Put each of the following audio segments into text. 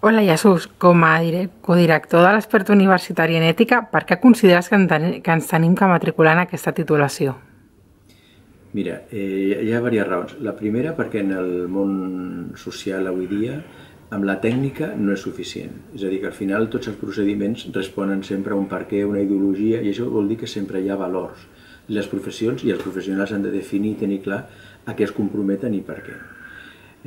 Hola Jesús, com a codirector de l'Expert Universitari en Ètica, per què consideres que ens tenim que matricular en aquesta titulació? Mira, hi ha diverses raons. La primera, perquè en el món social avui dia amb la tècnica no és suficient. És a dir, que al final tots els procediments responen sempre a un perquè, una ideologia, i això vol dir que sempre hi ha valors. Les professions i els professionals han de definir i tenir clar a què es comprometen i per què.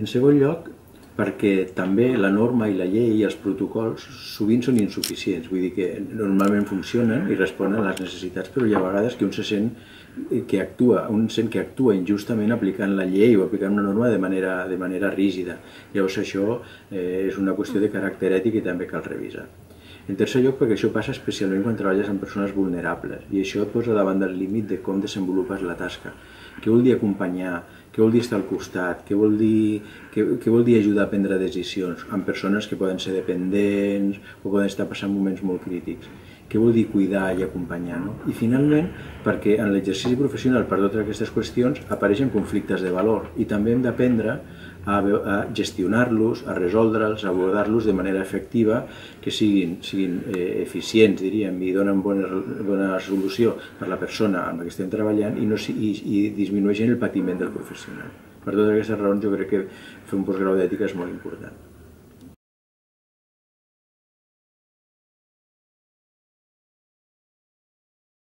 En segon lloc, perquè també la norma i la llei i els protocols sovint són insuficients, vull dir que normalment funcionen i responen a les necessitats, però hi ha vegades que un sent que actua injustament aplicant la llei o aplicant una norma de manera rígida. Llavors això és una qüestió de caràcter ètic i també cal revisar. En tercer lloc, perquè això passa especialment quan treballes amb persones vulnerables i això et posa davant del límit de com desenvolupes la tasca. Què vol dir acompanyar? Què vol dir estar al costat? Què vol dir ajudar a prendre decisions amb persones que poden ser dependents o poden estar passant moments molt crítics? Què vol dir cuidar i acompanyar? No? I finalment, perquè en l'exercici professional per totes aquestes qüestions apareixen conflictes de valor i també hem d'aprendre a gestionar-los, a resoldre'ls, a abordar-los de manera efectiva, que siguin eficients, diríem, i donen bona solució per a la persona amb la que estem treballant i disminueixen el patiment del professional. Per totes aquestes raons jo crec que fer un postgrau d'ètica és molt important.